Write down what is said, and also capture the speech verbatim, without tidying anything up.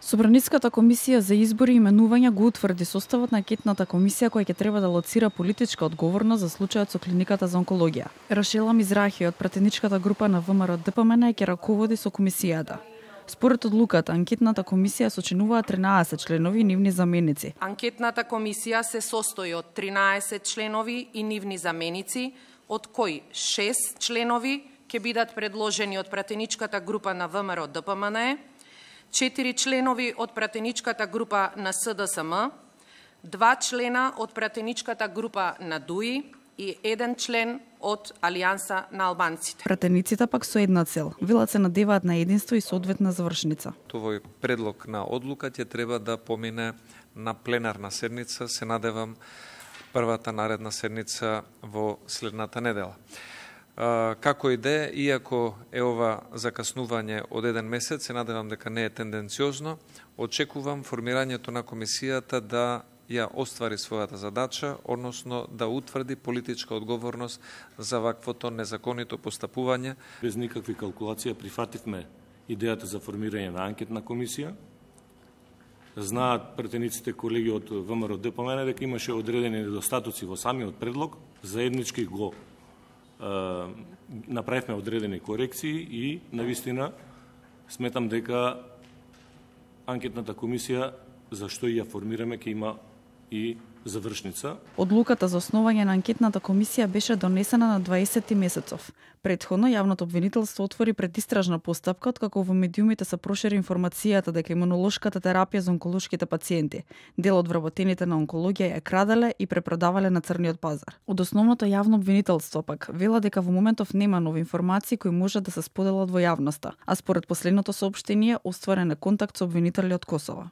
Собраницката комисија за избори и именувања го утврди составот на анкетната комисија која ќе треба да лоцира политичка одговорност за случајот со клиниката за онкологија. Рашела Мизрахи од пратеничката група на ВМРО Д П М Н ќе раководи со комисијата. Според одлуката, анкетната комисија сочинуваат тринаесет членови и нивни заменици. Анкетната комисија се состои од тринаесет членови и нивни заменици, од кои шест членови ќе бидат предложени од пратеничката група на ВМРО Д П М Н, четири членови од пратеничката група на С Д С М, два члена од пратеничката група на Д У И и еден член од Алијанса на албанците. Пратениците пак со една цел. Велат се надеваат на единство и соодветна завршница. Овој предлог на одлука ќе треба да помине на пленарна седница, се надевам првата наредна седница во следната недела. Како и де, иако е ова закаснување од еден месец, се надевам дека не е тенденциозно, очекувам формирањето на комисијата да ја оствари својата задача, односно да утврди политичка одговорност за ваквото незаконито постапување. Без никакви калкулации прифативме идејата за формирање на анкетна комисија. Знаат пратениците колеги од ВМРО Д П М Н дека имаше одредени недостатоци во самиот предлог, заеднички го направивме одредени корекции и навистина сметам дека анкетната комисија зашто ја формираме ќе има и завршница. Одлуката за основање на анкетната комисија беше донесена на дваесети месецов. Предходно јавното обвинителство отвори предистражна постапка откако во медиумите се прошири информацијата дека имунолошката терапија за онколошките пациенти, дел од вработените на онкологија ја краделе и препродавале на црниот пазар. Од основното јавно обвинителство пак вела дека во моментов нема нови информации кои може да се споделат во јавноста, а според последното соопштение остварен е контакт со обвинители од Косово.